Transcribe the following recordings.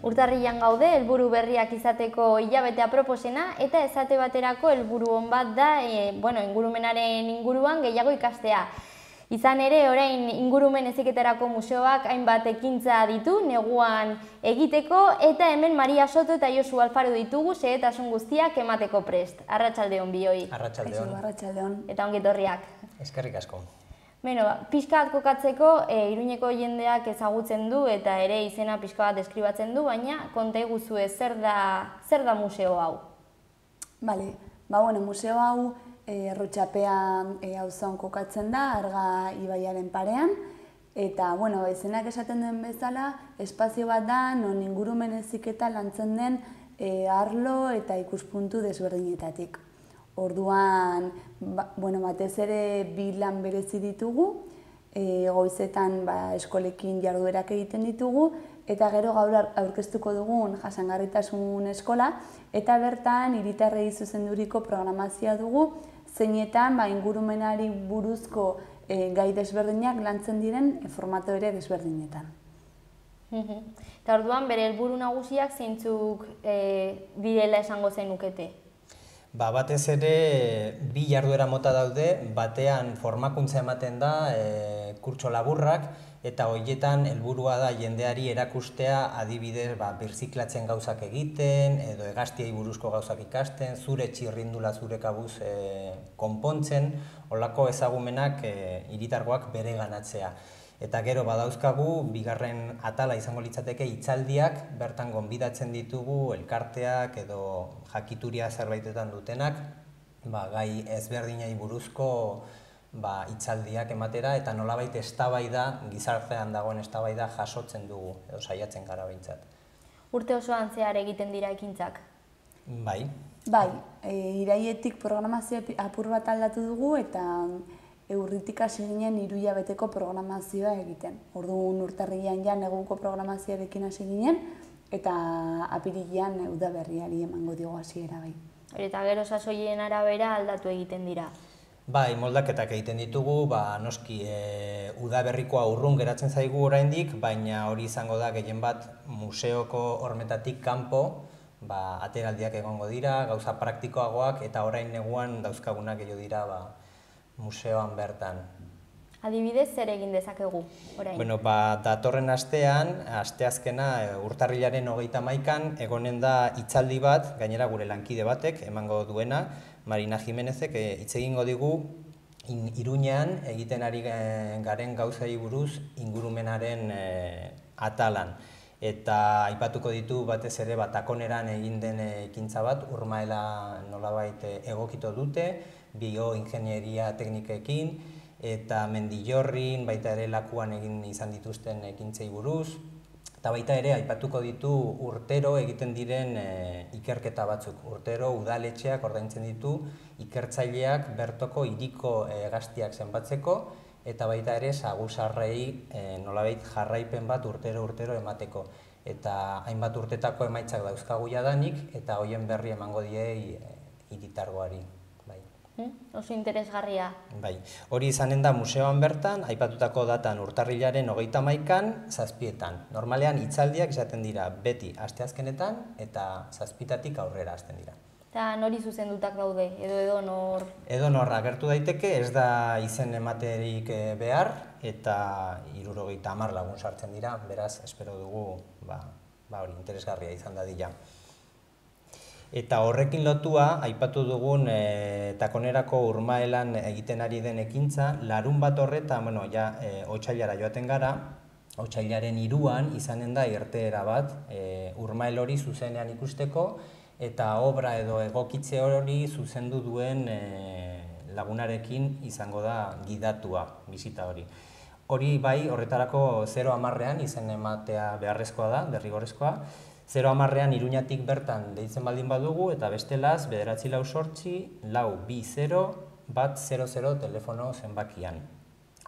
Urtarrilan gaude, helburu berriak izateko hilabete aproposena eta esate baterako helburu on bat da ingurumenaren inguruan gehiago ikastea. Izan ere, orain ingurumen heziketarako museoak hainbat ekintza ditu neguan egiteko eta hemen Maria Soto eta Josu Alfaro ditugu xehetasun guztiak emateko prest. Arratsaldeon bioi. Arratsaldeon. Eta ongi etorriak. Eskerrik asko. Pixka bat kokatzeko, Iruñeko jendeak ezagutzen du eta ere izena pixka bat deskribatzen du, baina konta iguzue zer da museo hau? Museo hau Errutxapean auzoan kokatzen da, Arga ibaiaren parean, eta izenak esaten duen bezala, espazio bat da, non ingurumen heziketa lantzen den arlo eta ikuspuntu desberdinetatik. Orduan, batez ere bi lan berezi ditugu, goizetan eskolekin jarduerak egiten ditugu, eta gero gaur aurkeztuko dugun jasangarritasun eskola, eta bertan hiritarrei zuzenduriko programazioa dugu, zeinetan ingurumenari buruzko gai desberdinak lantzen diren formato ere desberdinetan. Eta orduan, bere helburu nagusiak zeintzuk direla esango zenukete? Batez ere, bi jarduera mota daude, batean formakuntza ematen da, kurtso laburrak, eta horietan helburua da jendeari erakustea adibidez birziklatzen gauzak egiten, edo hegaztiei buruzko gauzak ikasten, zure txirrindula zure kabuz konpontzen, holako ezagumenak hiritargoak bere ganatzea. Eta gero badauzkagu, bigarren atala izango litzateke hitzaldiak, bertan gonbidatzen ditugu elkarteak edo jakituria zerbaitetan dutenak, gai ezberdinei buruzko hitzaldiak ematera eta nolabait eztabaida, gizartean dagoen eztabaida jasotzen dugu, edo saiatzen gara behintzat. Urte osoan zehar egiten dira ekintzak? Bai. Iraietik programazioa apur bat aldatu dugu eta urritik hasi ginen 3 hilabeteko programazioa egiten. Orduan urtarrilean neguko programazioarekin hasi ginen eta apirilean udaberriari emango diogu hasiera bai. Eta gero sasoien arabera aldatu egiten dira? Moldaketak egiten ditugu, noski udaberrikoa urrun geratzen zaigu oraindik, baina hori izango da gehien bat museoko hormetatik kanpo, ateraldiak egongo dira, gauza praktikoagoak eta orain neguan dauzkagunak gehiago dira museoan bertan. Adibidez, zer egin dezakegu orain? Datorren astean, asteazkena urtarrilaren 31an, egonen da hitzaldi bat, gainera gure lankide batek emango duena, Marina Jimenezek hitz egingo digu Iruñean egiten ari garen gauzei buruz ingurumenaren atalan. Eta aipatuko ditu batez ere takoneran egin den ekintza bat, urmaela nolabait egokito dute, bioingenieria teknikekin, eta Mendillorrin baita ere Lakuan egin izan dituzten ekintzei buruz, eta baita ere aipatuko ditu urtero egiten diren ikerketa batzuk. Urtero udaletxeak ordaintzen ditu ikertzaileak bertoko hiriko hegaztiak zenbatzeko, eta baita ere saguzarrei nolabait jarraipen bat urtero emateko. Eta hainbat urtetako emaitzak dauzkagu jadanik, eta hoien berri emango diei hiritargoari. Oso interesgarria. Hori izanen da museoan bertan, aipatutako datan urtarrilaren 31an, 7etan. Normalean hitzaldiak izaten dira beti asteazkenetan eta 7tatik aurrera hasten dira. Eta nori zuzendutak daude, edo nor? Edo nor agertu daiteke, ez da izen ematerik behar, eta 70 lagun sartzen dira, beraz, espero dugu, hori interesgarria izan dadila. Eta horrekin lotua, aipatu dugun takonerako urmaelan egiten ari den ekintza, larun bat horretan, otsailara joaten gara, otsailaren 3an izanen da irteera bat, urmael hori zuzenean ikusteko, eta obra edo egokitze hori zuzendu duen lagunarekin izango da gidatua, bisita hori. Hori horretarako 0-10ean izen ematea beharrezkoa da, derrigorrezkoa, 0-10ean Iruñatik bertan deitzen baldin badugu, eta bestelaz 948-220-100 telefono zenbakian.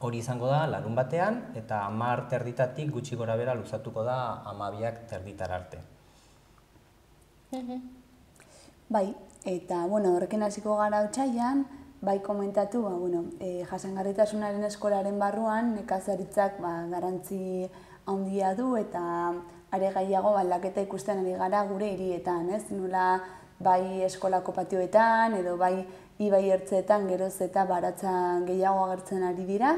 Hori izango da larun batean, eta 10:30 gutxi gora bera luzatuko da 12:30 arte. Eta horrekin hasiko gara otsailean, komentatu, jasangarritasunaren eskolaren barruan nekazaritzak garrantzi handia du eta are gehiago aldaketa ikusten ari gara gure hirietan, ez? Nola bai eskolako patioetan edo bai ibai ertzeetan geroz eta baratza gehiago agertzen ari dira,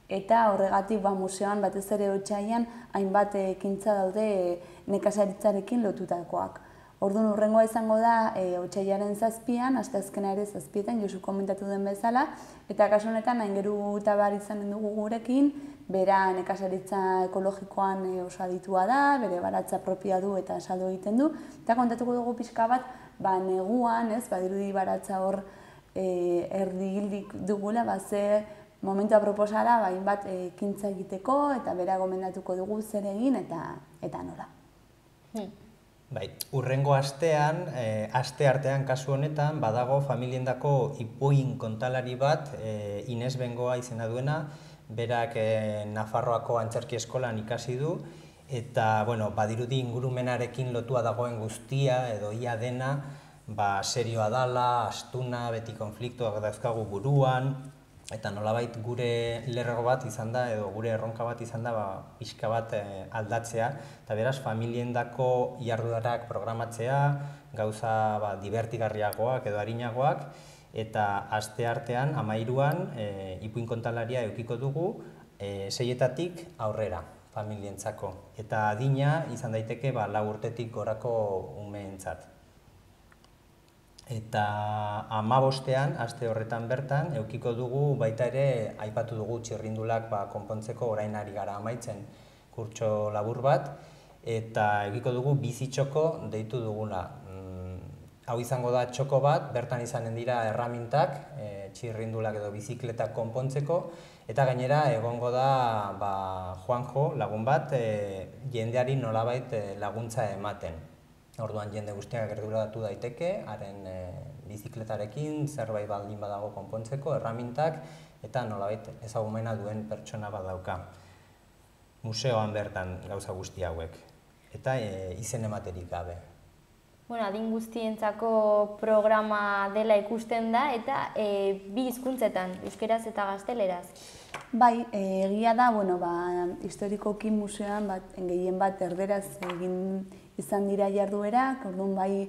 eta horregatik museoan batez ere Otsailean hainbat ekintza daude nekazaritzarekin lotutakoak. Orduan hurrengoa izango da Otsailaren 7an, asteazkena ere 7etan, Josu komentatu den bezala, eta kasu honetan Aingeru Tabar izanen dugu gurekin, bera nekazaritza ekologikoan oso aditua da, bere baratza propioa du eta saldu egiten du, eta kontatuko dugu pixka bat, neguan, badirudi baratza hor erdi hildik dugula, ze momentu aproposala hainbat ekintza egiteko eta bera gomendatuko dugu zer egin eta nola. Bai, hurrengo astean, aste artean kasu honetan, badago familiendako ipuin kontalari bat, Ines Bengoa izena duena, berak Nafarroako Antzerki Eskolan ikasi du, eta badirudi ingurumenarekin lotua dagoen guztia edo ia dena, serioa dala, astuna, beti konfliktuak dauzkagu buruan, eta nolabait gure lerro bat izan da, edo gure erronka bat izan da, pixka bat aldatzea, eta beraz, familiendako jarduerak programatzea, gauza divertigarriagoak edo arinagoak, eta aste artean, 13an, ipuin kontalaria edukiko dugu, 6etatik aurrera familientzako. Eta adina izan daiteke 4 urtetik gorako umeentzat. Eta 15ean, aste horretan bertan, edukiko dugu baita ere aipatu dugu txirrindulak konpontzeko orain ari gara amaitzen kurtso labur bat, eta edukiko dugu bizitxoko deitu duguna. Hau izango da txoko bat, bertan izanen dira erramintak, txirrindulak edo bizikletak konpontzeko, eta gainera egongo da Juanjo lagun bat jendeari nolabait laguntza ematen. Orduan jende guztiak gerturatu daiteke, haren bizikletarekin, zerbait baldin badago konpontzeko, erramintak, eta nolabait ezagumena duen pertsona bat dauka. Museoan bertan gauza guzti hauek, eta izen ematerik gabe. Adin guztientzako programa dela ikusten da, eta bi hizkuntzetan, euskeraz eta gazteleraz. Bai, egia da, historikoki museoan gehien bat erderaz egin izan dira jarduerak, orduan bai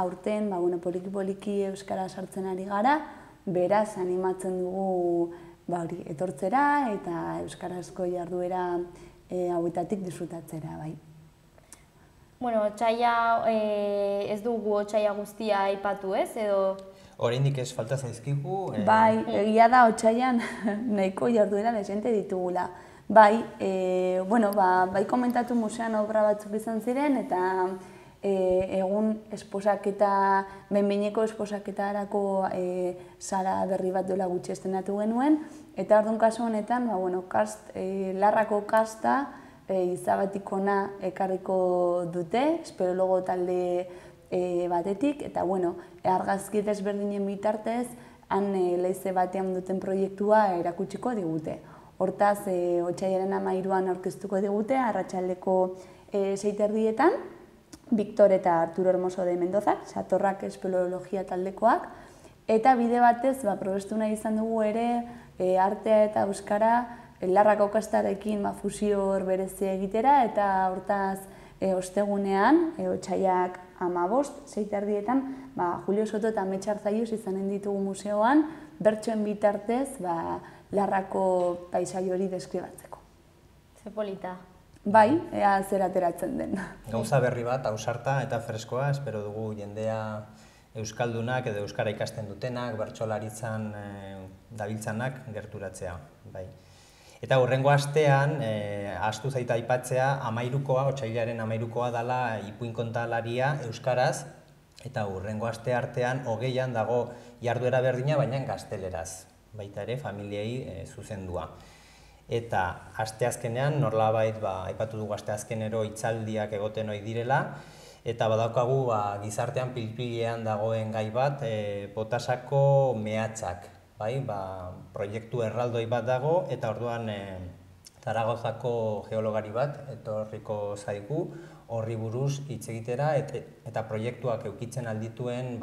aurten poliki-poliki euskara sartzen ari gara, beraz animatzen dugu etortzera eta euskarazko jarduera hauetatik disfrutatzera, bai. Otsaila, ez dugu otsaila guztia aipatu ez, edo? Oraindik ez falta zaizkigu. Bai, egia da otsailean nahiko jarduera dezente ditugula. Bai, bai komentatu museoan obra batzuk izan ziren, eta egun esposaketa, behin-behineko esposaketarako sara berri bat dola gutxi estenatu genuen, eta orduan kasu honetan, larrako kasta izabatikona ekarriko dute, espeleologo talde batetik, eta argazki desberdinen bitartez, han leize batean duten proiektua erakutsiko digute. Hortaz, Otsailaren 13an aurkeztuko digute, arratsaldeko 6:30etan, Victor eta Arturo Hermoso de Mendozak, Satorrak espeleologia taldekoak, eta bide batez, probestu nahi izan dugu ere, artea eta euskara, larrako kastarekin fusio berezia egitera, eta hortaz, ostegunean, Otsailak 15, 6:30etan, Julio Soto eta Amets Arzallus izanen ditugu museoan, bertsoen bitartez, larrako paisai hori deskribatzeko. Ze polita. Bai, ea zer ateratzen den. Gauza berri bat, ausarta eta freskoa, espero dugu jendea euskaldunak edo euskara ikasten dutenak, bertsolaritzan dabiltzanak gerturatzea. Eta hurrengo astean, ahaztu zaita aipatzea, 13koa, Otsailaren 13koa dela ipuin kontalaria euskaraz, eta hurrengo aste artean 20an dago jarduera berdina, baina gazteleraz, baita ere familiei zuzendua. Eta asteazkenean, nolabait aipatu dugu asteazkenero hitzaldiak egoten ohi direla, eta badaukagu gizartean pilpilean dagoen gai bat, Botasako mehatzak. Proiektu erraldoi bat dago, eta orduan Zaragozako geologari bat etorriko zaigu horri buruz hitz egitera, eta proiektuak eukitzen aldituen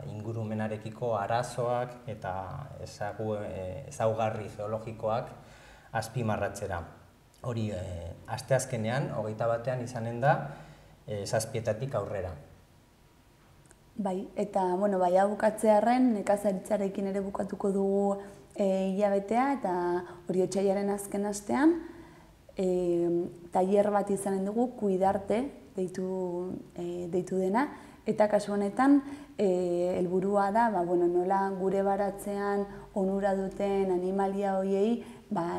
ingurumenarekiko arazoak eta ezaugarri geologikoak azpimarratzera. hori asteazkenean, 21ean izanen da, 7:00 aurrera. Bai, eta, bueno, bai, hau bukatzearren, nekazaritzarekin ere bukatuko dugu hilabetea, eta hori otsailaren azken astean, tailer bat izanen dugu, Kuidarte, deitu dena, eta kasu honetan, helburua da, nola gure baratzean onura duten animalia horiei,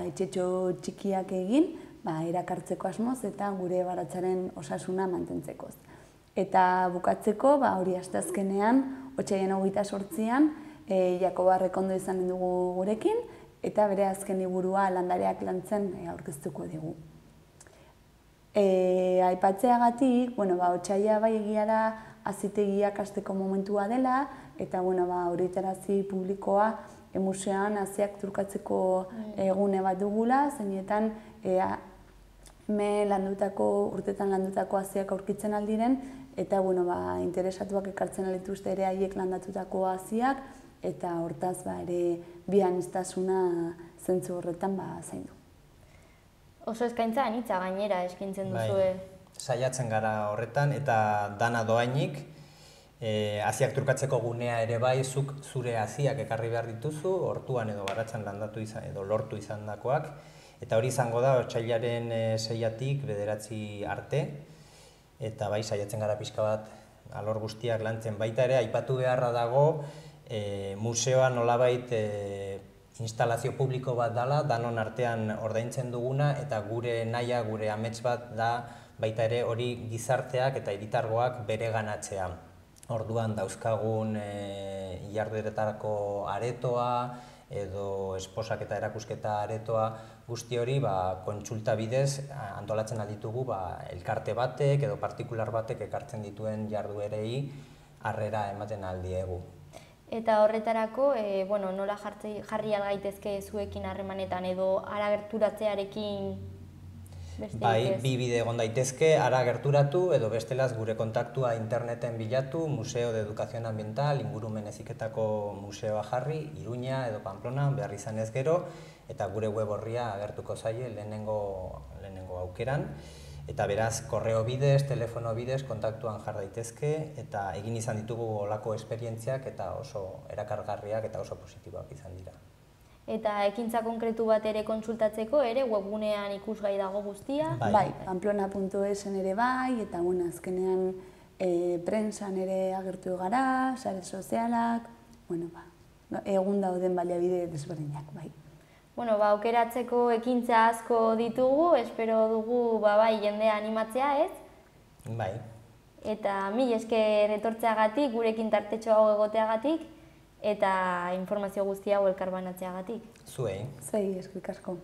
etxetxo txikiak egin, erakartzeko asmoz eta gure baratzaren osasuna mantentzekoz. Eta bukatzeko, hori asteazkenean, otsailaren 28an, Jakoba Rekondo izanen dugu gurekin, eta bere azken liburua Landareak lantzen aurkeztuko digu. Aipatzeagatik, otsaila bai egia da hazitegiak hasteko momentua dela, eta horretarazi publikoa museoan haziak trukatzeko egune bat dugula, zeinetan urtetan landutako haziak aurkitzen aldiren, eta interesatuak ekartzen alituzte ere haiek landatutako haziak, eta hortaz ere bi aniztasuna zentzu horretan zaindu. Oso eskaintza anitza gainera eskaintzen duzue. Saiatzen gara horretan, eta dana doainik, haziak trukatzeko gunea ere bai, zuk zure haziak ekarri behar dituzu, hortuan edo baratzan landatu izan edo lortu izandakoak, eta hori izango da otsailaren 6-tik 9 arte, eta bai, saiatzen gara pixka bat alor guztiak lantzen. Baita ere, aipatu beharra dago, museoan nolabait instalazio publiko bat dela, danon artean ordaintzen duguna, eta gure nahia, gure amets bat da, baita ere hori gizarteak eta hiritargoak bere ganatzea. Orduan dauzkagun ilardueretarako aretoa, edo esposak eta erakusketa aretoa, guzti hori kontsulta bidez antolatzen alditugu elkarte batek edo partikular batek ekartzen dituen jarduerei harrera ematen aldiegu. Eta horretarako, nola jarri algaitezke zuekin harremanetan edo hara gerturatzearekin besterik ez? Bai, bi bide egon daitezke, hara gerturatu edo bestelaz gure kontaktua interneten bilatu, Museo de Educación Ambiental, ingurumen heziketako museoa jarri, Iruña edo Pamplona, behar izan ez gero, eta gure web horria agertuko zaie lehenengo aukeran. Eta beraz, korreo bidez, telefono bidez, kontaktuan jar daitezke, eta egin izan ditugu olako esperientziak eta oso erakargarriak eta oso positiboak izan dira. Eta ekintza konkretu bat ere kontsultatzeko ere webgunean ikusgai dago guztia? Bai, pamplona.esen ere bai, eta azkenean prentsan ere agertu gara, sare sozialak, egun dauden baliabide desberdinak, bai. Aukeratzeko ekintza asko ditugu, espero dugu jendea animatzea, ez? Bai. Eta mil esker etortzeagatik, gurekin tartetxo hau egoteagatik, eta informazio guztia elkarbanatzeagatik. Zuei. Zuei, eskerrik asko.